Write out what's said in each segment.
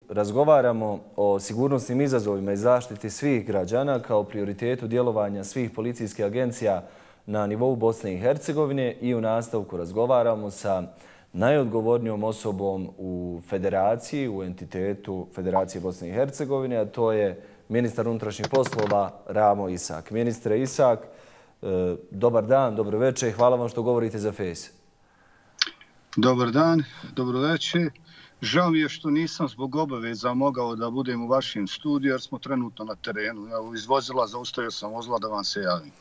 razgovaramo o sigurnosnim izazovima i zaštiti svih građana kao prioritetu djelovanja svih policijskih agencija na nivou Bosne i Hercegovine i u nastavku razgovaramo sa najodgovornijom osobom u federaciji, u entitetu Federacije Bosne i Hercegovine, a to je ministar unutrašnjih poslova Ramo Isak. Ministre Isak, dobar dan, dobro večer i hvala vam što govorite za FES. Dobar dan, dobro večer. Žao mi je što nisam zbog obaveza mogao da budem u vašem studiju jer smo trenutno na terenu. Evo, iz vozila zaustavio sam vozila da vam se javim.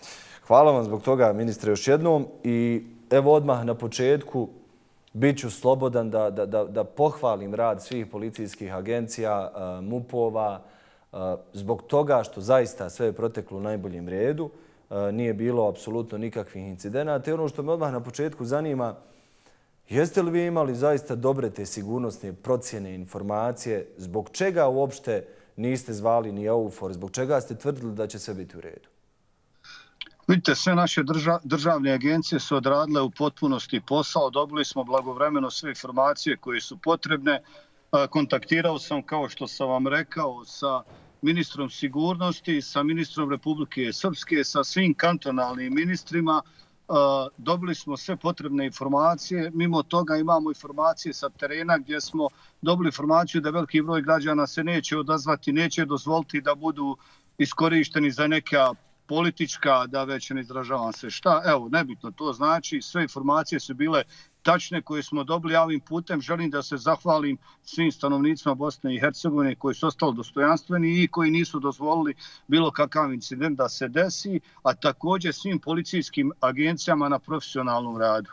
Hvala vam zbog toga, ministre, još jednom. I evo odmah na početku bit ću slobodan da pohvalim rad svih policijskih agencija, MUP-ova, zbog toga što zaista sve je proteklo u najboljem redu. Nije bilo apsolutno nikakvih incidenata. I ono što me odmah na početku zanima, jeste li vi imali zaista dobre te sigurnosne procjene, informacije? Zbog čega uopšte niste zvali ni EUFOR? Zbog čega ste tvrdili da će sve biti u redu? Vidite, sve naše državne agencije su odradile u potpunosti posao. Dobili smo blagovremeno sve informacije koje su potrebne. Kontaktirao sam, kao što sam vam rekao, sa ministrom sigurnosti, sa ministrom Republike Srpske, sa svim kantonalnim ministrima. Dobili smo sve potrebne informacije. Mimo toga imamo informacije sa terena gdje smo dobili informaciju da veliki broj građana se neće odazvati, neće dozvoliti da budu iskorišteni za neka politička, da već ne izražavam se šta. Evo, nebitno to znači. Sve informacije su bile tačne koje smo dobili. Ja ovim putem želim da se zahvalim svim stanovnicima Bosne i Hercegovine koji su ostali dostojanstveni i koji nisu dozvolili bilo kakav incident da se desi, a također svim policijskim agencijama na profesionalnom radu.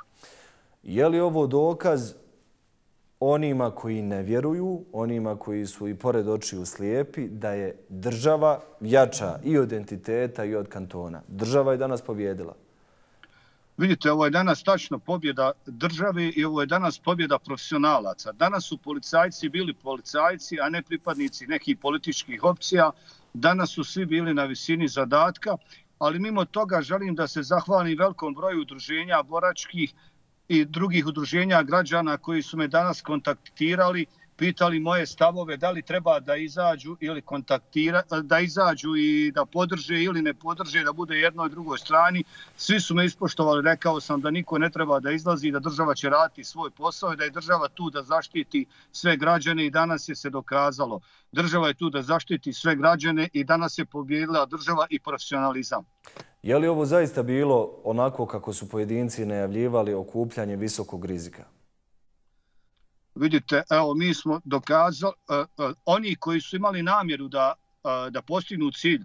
Je li ovo dokaz onima koji ne vjeruju, onima koji su i pored očiju slijepi, da je država jača i od entiteta i od kantona? Država je danas pobjedila. Vidite, ovo je danas tačno pobjeda države i ovo je danas pobjeda profesionalaca. Danas su policajci bili policajci, a ne pripadnici nekih političkih opcija. Danas su svi bili na visini zadatka, ali mimo toga želim da se zahvalim velikom broju udruženja boračkih i drugih udruženja građana koji su me danas kontaktirali, pitali moje stavove da li treba da izađu ili da izađu i da podrže ili ne podrže, da bude jednoj i drugoj strani. Svi su me ispoštovali, rekao sam da niko ne treba da izlazi, da država će raditi svoj posao i da je država tu da zaštiti sve građane i danas je se dokazalo. Država je tu da zaštiti sve građane i danas je pobjedila država i profesionalizam. Je li ovo zaista bilo onako kako su pojedinci najavljivali, okupljanje visokog rizika? Vidite, evo, mi smo dokazali, oni koji su imali namjeru da postignu cilj,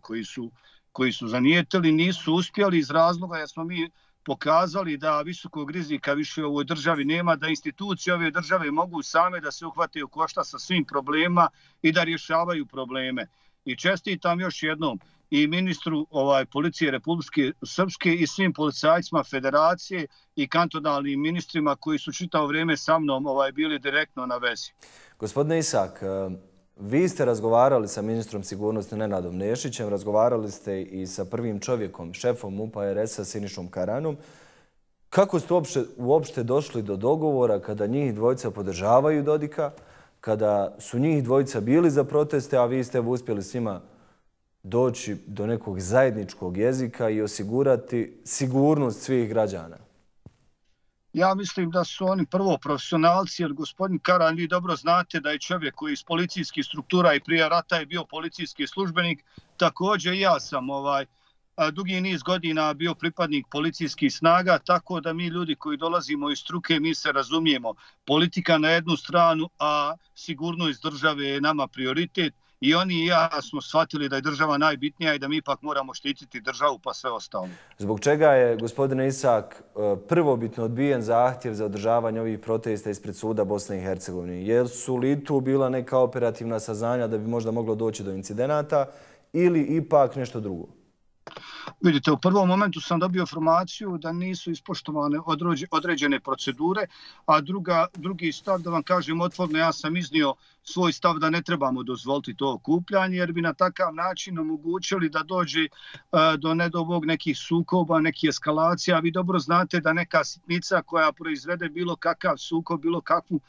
koji su zanijetili, nisu uspjeli iz razloga jer smo mi pokazali da visokog rizika više u ovoj državi nema, da institucije ove države mogu same da se uhvate u koštac sa svim problema i da rješavaju probleme. I čestitam još jednom i ministru policije Republike Srpske i svim policajcima federacije i kantonalnim ministrima koji su čitavo vrijeme sa mnom bili direktno na vezi. Gospodine Isak, vi ste razgovarali sa ministrom sigurnosti Nenadom Nešićem, razgovarali ste i sa prvim čovjekom, šefom MUP-a RS-a Sinišom Karanom. Kako ste uopšte došli do dogovora kada njih dvojica podržavaju Dodika, kada su njih dvojica bili za proteste, a vi ste uspjeli s njima doći do nekog zajedničkog jezika i osigurati sigurnost svih građana? Ja mislim da su oni prvo profesionalci, jer gospodin Karan, vi dobro znate da je čovjek koji iz policijskih struktura i prije rata je bio policijski službenik. Također i ja sam dugi niz godina bio pripadnik policijskih snaga, tako da mi ljudi koji dolazimo iz struke, mi se razumijemo. Politika na jednu stranu, a sigurnost države je nama prioritet. I oni i ja smo shvatili da je država najbitnija i da mi ipak moramo štititi državu pa sve ostalo. Zbog čega je, gospodine Isak, prvobitno odbijen zahtjev za održavanje ovih protesta ispred suda Bosne i Hercegovine? Jer su li tu bila neka operativna saznanja da bi možda moglo doći do incidenata ili ipak nešto drugo? Vidite, u prvom momentu sam dobio informaciju da nisu ispoštovane određene procedure, a drugi stav, da vam kažem otvoreno, ja sam iznio svoj stav da ne trebamo dozvoliti to okupljanje, jer bi na takav način omogućili da dođe do nedobog nekih sukoba, nekih eskalacija. Vi dobro znate da neka sitnica koja proizvede bilo kakav sukob, bilo kakvu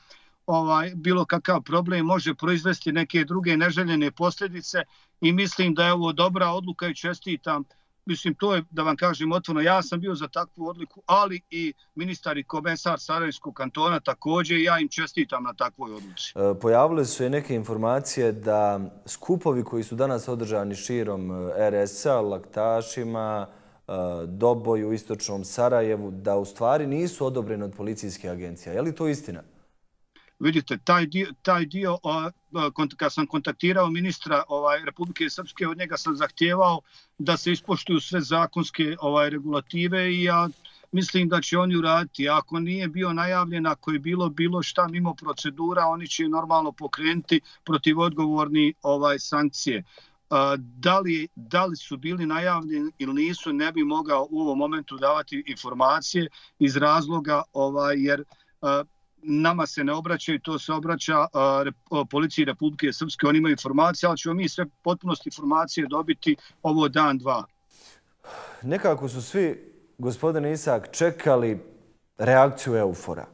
bilo kakav problem može proizvesti neke druge neželjene posljedice i mislim da je ovo dobra odluka i čestitam. Mislim, to je, da vam kažem otvoreno, ja sam bio za takvu odluku, ali i ministar i komesar Sarajevskog kantona također, ja im čestitam na takvoj odluci. Pojavile su i neke informacije da skupovi koji su danas održani širom RS-a, Laktašima, Doboju u istočnom Sarajevu, da u stvari nisu odobreni od policijskih agencija. Je li to istina? Vidite, taj dio kad sam kontaktirao ministra Republike Srpske, od njega sam zahtijevao da se ispoštuju sve zakonske regulative i ja mislim da će oni uraditi. Ako nije bio najavljen, ako je bilo šta mimo procedura, oni će normalno pokrenuti protiv odgovorni sankcije. Da li su bili najavljeni ili nisu, ne bi mogao u ovom momentu davati informacije iz razloga jer nama se ne obraćaju, to se obraća policiji Republike Srpske, oni imaju informacije, ali ćemo mi sve potpunosti informacije dobiti ovo dan, dva. Nekako su svi, gospodine Isak, čekali reakciju EUFOR-a.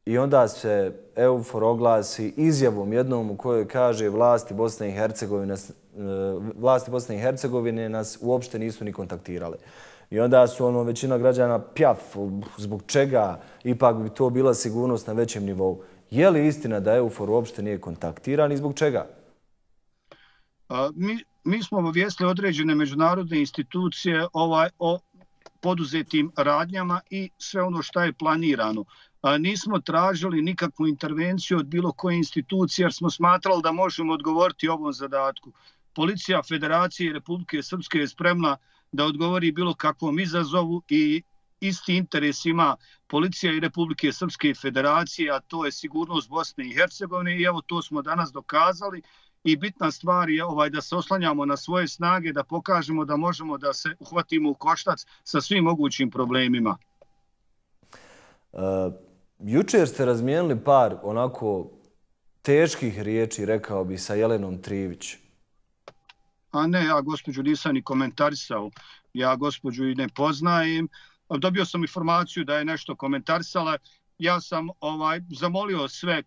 I onda se EUFOR oglasi izjavom jednom u kojoj kaže vlasti Bosne i Hercegovine nas uopšte nisu ni kontaktirale. I onda su većina građana pjaf, zbog čega ipak bi to bila sigurnost na većem nivou. Je li istina da EUFOR uopšte nije kontaktiran i zbog čega? Mi smo obavijestili određene međunarodne institucije o poduzetim radnjama i sve ono što je planirano. Nismo tražili nikakvu intervenciju od bilo koje institucije jer smo smatrali da možemo odgovoriti ovom zadatku. Policija Federacije Republike Srpske je spremna da odgovori bilo kakvom izazovu i isti interes ima policija i Republike Srpske i Federacije, a to je sigurnost Bosne i Hercegovine i evo to smo danas dokazali i bitna stvar je da se oslanjamo na svoje snage, da pokažemo da možemo da se uhvatimo u koštac sa svim mogućim problemima. Jučer ste razmijenili par onako teških riječi, rekao bi, sa Jelenom Trivić. A ne, ja gospođu nisam ni komentarisao. Ja gospođu i ne poznajem. Dobio sam informaciju da je nešto komentarisala. Ja sam zamolio sve,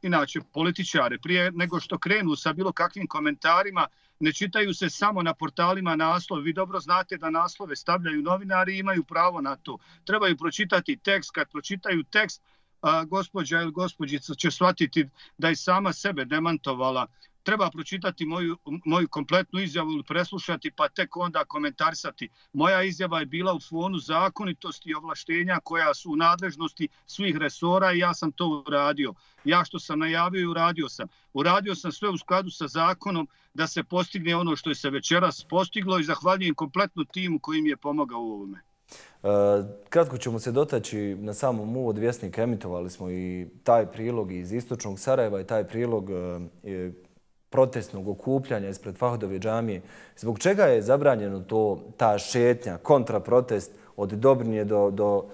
inače političare, prije nego što krenu sa bilo kakvim komentarima, ne čitaju se samo na portalima naslovi. Vi dobro znate da naslove stavljaju novinari i imaju pravo na to. Trebaju pročitati tekst. Kad pročitaju tekst, gospođa ili gospođica će shvatiti da je sama sebe demantovala. Treba pročitati moju kompletnu izjavu ili preslušati pa tek onda komentarisati. Moja izjava je bila u fonu zakonitosti i ovlaštenja koja su u nadležnosti svih resora i ja sam to uradio. Ja što sam najavio i uradio sam. Uradio sam sve u skladu sa zakonom da se postigne ono što je se večeras postiglo i zahvaljujem kompletnu timu koji mi je pomogao u ovome. Kratko ćemo se dotaći na samom uvodu Vjesnika. Emitovali smo i taj prilog iz istočnog Sarajeva i taj prilog protestnog okupljanja ispred Fahdove džamije. Zbog čega je zabranjeno ta šetnja, kontraprotest od Dobrinje do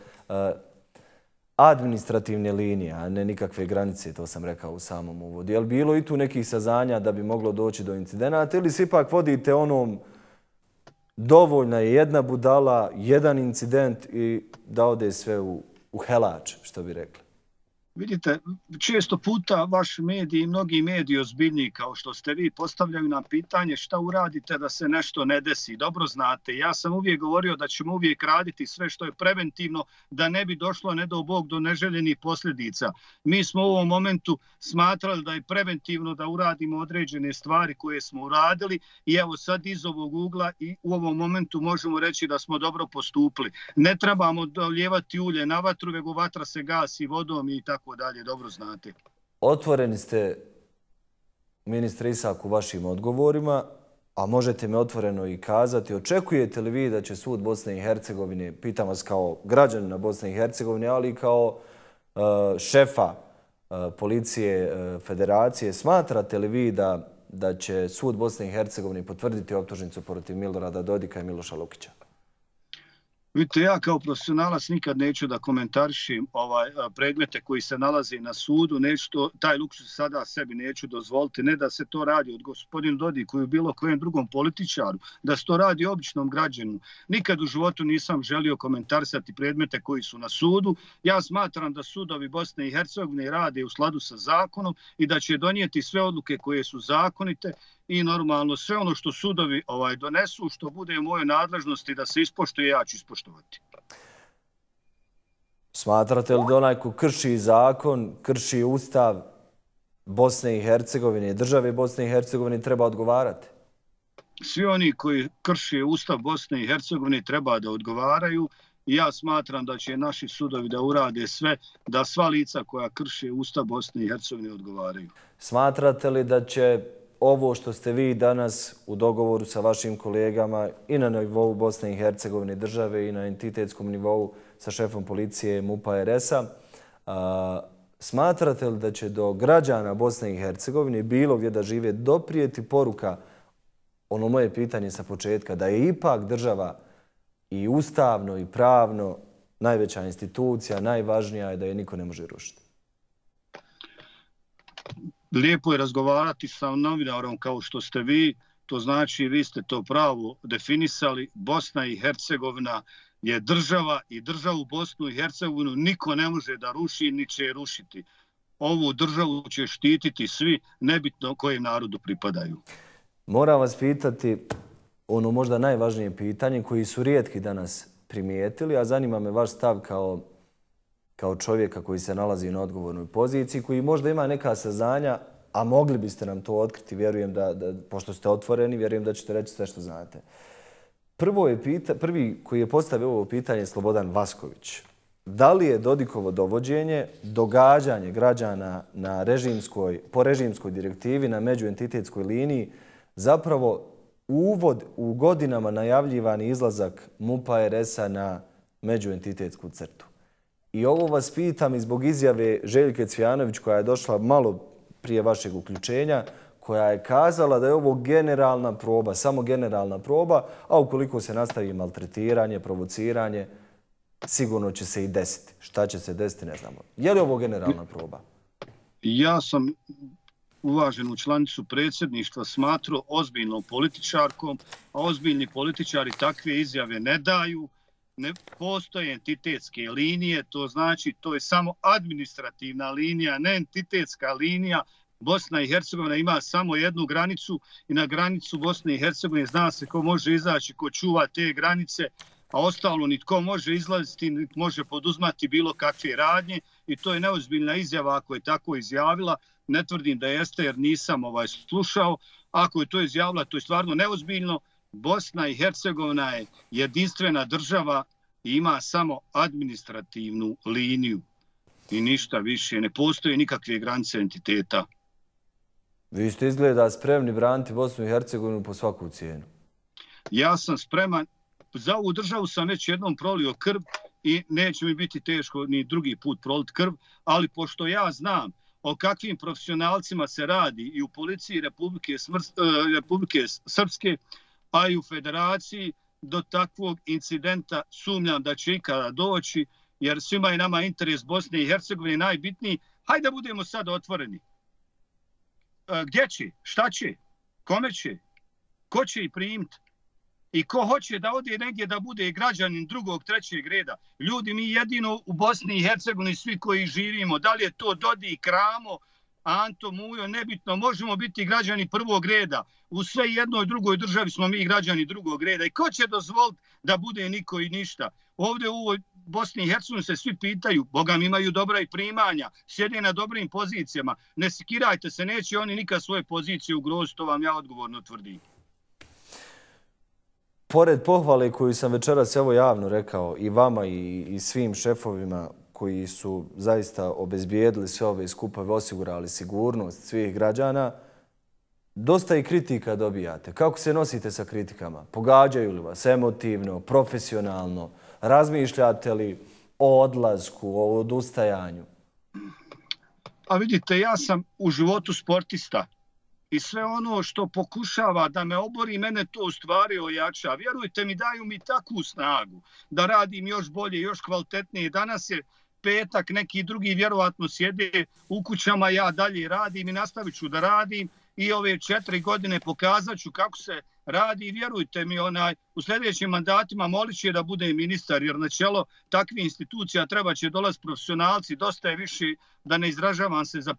administrativne linije, a ne nikakve granice, to sam rekao u samom uvodu. Je li bilo i tu nekih saznanja da bi moglo doći do incidenata ili se ipak vodite onom dovoljna je jedna budala, jedan incident i da ode sve u helač, što bi rekli? Vidite, često puta vaš mediji i mnogi mediji ozbiljniji kao što ste vi postavljaju nam pitanje šta uradite da se nešto ne desi. Dobro znate, ja sam uvijek govorio da ćemo uvijek raditi sve što je preventivno da ne bi došlo, ne do Bog, do neželjenih posljedica. Mi smo u ovom momentu smatrali da je preventivno da uradimo određene stvari koje smo uradili i evo sad iz ovog ugla i u ovom momentu možemo reći da smo dobro postupili. Ne trebamo dolijevati ulje na vatru, nego vatra se gasi vodom i tako dalje, dobro znate. Otvoreni ste, ministre Isak, u vašim odgovorima, a možete me otvoreno i kazati, očekujete li vi da će sud Bosne i Hercegovine, pitam vas kao građanina Bosne i Hercegovine, ali i kao šefa policije federacije, smatrate li vi da će sud Bosne i Hercegovine potvrditi optužnicu protiv Milorada Dodika i Miloša Lukića? Vidite, ja kao profesionalac nikad neću da komentarišim predmete koji se nalaze na sudu, taj luksuz sada sebi neću dozvoliti, ne da se to radi od gospodinu Dodiku i bilo kojem drugom političaru, da se to radi običnom građanu. Nikad u životu nisam želio komentarisati predmete koji su na sudu. Ja smatram da sudovi Bosne i Hercegovine rade u skladu sa zakonom i da će donijeti sve odluke koje su zakonite i normalno sve ono što sudovi donesu, što bude u mojoj nadležnosti da se ispoštuje, ja ću ispoštovati. Smatrate li da onaj ko krši zakon, krši ustav Bosne i Hercegovine, države Bosne i Hercegovine, treba odgovarati? Svi oni koji krše ustav Bosne i Hercegovine treba da odgovaraju i ja smatram da će naši sudovi da urade sve da sva lica koja krše ustav Bosne i Hercegovine odgovaraju. Smatrate li da će ovo što ste vi danas u dogovoru sa vašim kolegama i na nivou Bosne i Hercegovine države i na entitetskom nivou sa šefom policije MUP-a RS-a, smatrate li da će do građana Bosne i Hercegovine bilo gdje da žive doprijeti poruka, ono moje pitanje sa početka, da je ipak država i ustavno i pravno najveća institucija, najvažnija je da je niko ne može rušiti? Lijepo je razgovarati sa novinarom kao što ste vi, to znači vi ste to pravo definisali. Bosna i Hercegovina je država i državu Bosnu i Hercegovinu niko ne može da ruši ni će rušiti. Ovu državu će štititi svi, nebitno kojem narodu pripadaju. Moram vas pitati ono možda najvažnije pitanje koji su rijetki danas primijetili, a zanima me vaš stav kao čovjeka koji se nalazi na odgovornoj poziciji, koji možda ima neka saznanja, a mogli biste nam to otkriti, vjerujem pošto ste otvoreni, vjerujem da ćete reći sve što znate. Prvi koji je postavio ovo pitanje je Slobodan Vasković. Da li je Dodikovo dovođenje, događanje građana po režimskoj direktivi na međuentitetskoj liniji zapravo uvod u godinama najavljivani izlazak MUP-a RS-a na međuentitetsku crtu? I ovo vas pitam i zbog izjave Željke Cvijanović koja je došla malo prije vašeg uključenja, koja je kazala da je ovo generalna proba, samo generalna proba, a ukoliko se nastavi maltretiranje, provociranje, sigurno će se i desiti. Šta će se desiti, ne znamo. Je li ovo generalna proba? Ja sam uvaženu članicu predsjedništva smatrao ozbiljnom političarkom, a ozbiljni političari takve izjave ne daju. Ne postoje entitetske linije, to znači to je samo administrativna linija, ne entitetska linija. Bosna i Hercegovina ima samo jednu granicu i na granicu Bosne i Hercegovine zna se ko može izaći, ko čuva te granice, a ostalo nitko može izlaziti, niti može poduzmati bilo kakve radnje i to je neozbiljna izjava ako je tako izjavila. Ne tvrdim da jeste jer nisam slušao. Ako je to izjavila, to je stvarno neozbiljno. Bosna i Hercegovina je jedinstvena država i ima samo administrativnu liniju i ništa više. Ne postoje nikakve granice entiteta. Vi ste izgleda spremni braniti Bosnu i Hercegovinu po svaku cijenu. Ja sam spreman. Za ovu državu sam već jednom prolio krv i neće mi biti teško ni drugi put proliti krv, ali pošto ja znam o kakvim profesionalcima se radi i u policiji Republike Srpske, a i u federaciji, do takvog incidenta sumnjam da će ikada doći, jer svima je nama interes Bosne i Hercegovine najbitniji. Hajde da budemo sad otvoreni. Gdje će? Šta će? Kome će? Ko će ih primiti? I ko hoće da ode negdje da bude građanin drugog, trećeg reda? Ljudi, mi jedino u Bosni i Hercegovini svi koji živimo, da li je to Dodik, Ramo, Anto, Mujo, nebitno, možemo biti građani prvog reda. U sve jednoj drugoj državi smo mi građani drugog reda. I ko će dozvoliti da bude niko i ništa? Ovdje u ovoj Bosni i Hercegovini se svi pitaju, Boga mi imaju dobra i primanja, sjede na dobrim pozicijama. Ne sikirajte se, neće oni nikad svoje pozicije ugroziti, to vam ja odgovorno tvrdim. Pored pohvale koju sam večeras evo javno rekao i vama i svim šefovima koji su zaista obezbijedili sve ove skupove, osigurali sigurnost svih građana, dosta i kritika dobijate. Kako se nosite sa kritikama? Pogađaju li vas emotivno, profesionalno? Razmišljate li o odlasku, o odustajanju? A vidite, ja sam u životu sportista. i sve ono što pokušava da me obori, mene to u stvari ojača. Vjerujte mi, daju mi takvu snagu da radim još bolje, još kvalitetnije. Danas je petak, neki drugi vjerovatno sjede u kućama, ja dalje radim i nastavit ću da radim i ove 4 godine pokazat ću kako se radi i vjerujte mi, u sljedećim mandatima molit će da bude ministar, jer na čelo takvih institucija treba će dolaziti profesionalci, dosta je više, da ne izražavam se za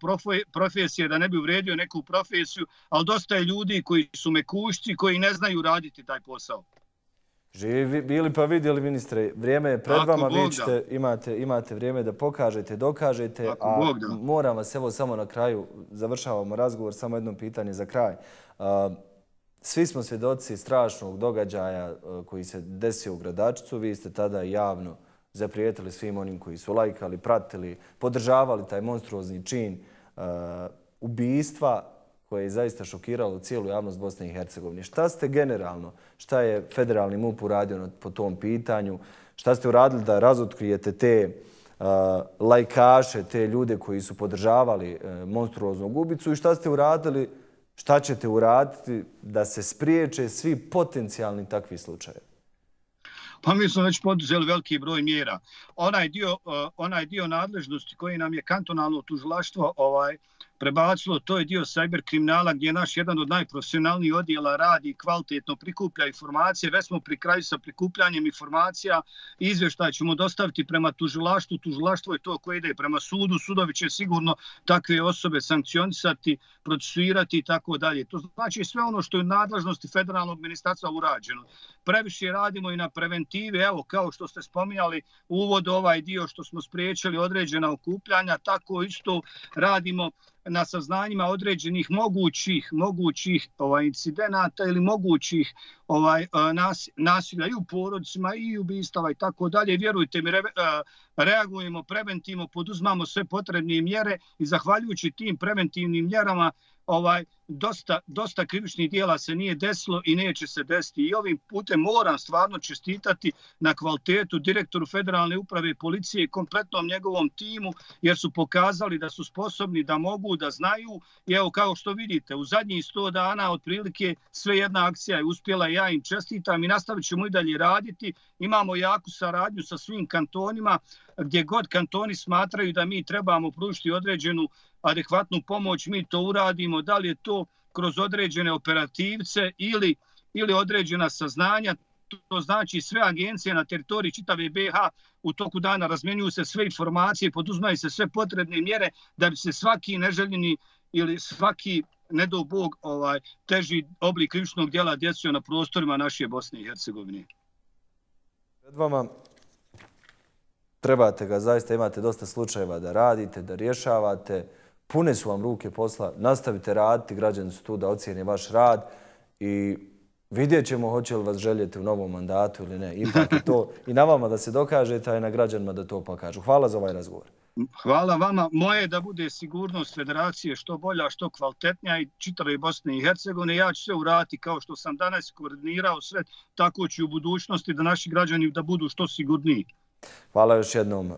profesije, da ne bi uvredio neku profesiju, ali dosta je ljudi koji su mekušci, koji ne znaju raditi taj posao. Živi bili pa vidjeli, ministre, vrijeme je pred vama, vi ćete, imate vrijeme da pokažete, dokažete, a moram vas evo samo na kraju, završavamo razgovor, samo jedno pitanje za kraj. Svi smo svjedoci strašnog događaja koji se desio u Gradačcu, vi ste tada javno zaprijetili svim onim koji su lajkali, pratili, podržavali taj monstruozni čin ubijstva koje je zaista šokiralo cijelu javnost Bosne i Hercegovine. Šta ste generalno, šta je federalni MUP uradio po tom pitanju, šta ste uradili da razotkrijete te lajkaše, te ljude koji su podržavali monstruoznog ubicu i šta ste uradili, šta ćete uraditi da se spriječe svi potencijalni takvi slučajevi? Pa mi smo već poduzeli veliki broj mjera. Onaj dio nadležnosti koji nam je kantonalno tužilaštvo prebacilo, to je dio cyber kriminala gdje naš jedan od najprofesionalnijih odjela radi, kvalitetno prikuplja informacije. Već smo pri kraju sa prikupljanjem informacija. Izvještaj ćemo dostaviti prema tužilaštvu. Tužilaštvo je to koje ide prema sudu. Sudovi će sigurno takve osobe sankcionisati, procesuirati i tako dalje. To znači sve ono što je u nadležnosti federalnog ministarstva urađeno. Previše radimo i na preventivi. Evo, kao što ste spominjali uvod ovaj dio što smo spriječili određena okupljanja, tako isto radimo na saznanjima određenih mogućih incidenata ili mogućih nasilja i u porodicima i ubistava i tako dalje. Vjerujte mi, reagujemo preventivno, poduzmamo sve potrebne mjere i zahvaljujući tim preventivnim mjerama dosta krivičnih dijela se nije desilo i neće se desiti. I ovim putem moram stvarno čestitati na kvalitetu direktoru Federalne uprave policije i kompletnom njegovom timu, jer su pokazali da su sposobni, da mogu, da znaju. I evo, kao što vidite, u zadnjih 100 dana otprilike sve jedna akcija je uspjela i ja im čestitam i nastavit ćemo i dalje raditi. Imamo jaku saradnju sa svim kantonima, gdje god kantoni smatraju da mi trebamo pružiti određenu adekvatnu pomoć, mi to uradimo, da li je to kroz određene operativce ili određena saznanja. To znači sve agencije na teritoriji čitave BiH u toku dana razmjenjuju se sve informacije, poduzmaju se sve potrebne mjere da bi se svaki neželjeni ili svaki, ne do Bog, teži oblik krivičnog djela desio na prostorima naše Bosne i Hercegovine. Pred vama trebate ga, zaista imate dosta slučajeva da radite, da rješavate. Pune su vam ruke posla, nastavite raditi, građani su tu da ocijene vaš rad i vidjet ćemo hoće li vas željeti u novom mandatu ili ne. Ipak je to i na vama da se dokažete, a i na građanima da to pokažu. Hvala za ovaj razgovor. Hvala vama. Moje je da bude sigurnost federacije što bolja, što kvalitetnija i čitave Bosne i Hercegovine. Ja ću sve uraditi kao što sam danas koordinirao sve, tako ću u budućnosti da naši građani da budu što sigurniji. Hvala još jednom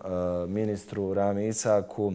ministru Rami Isaku.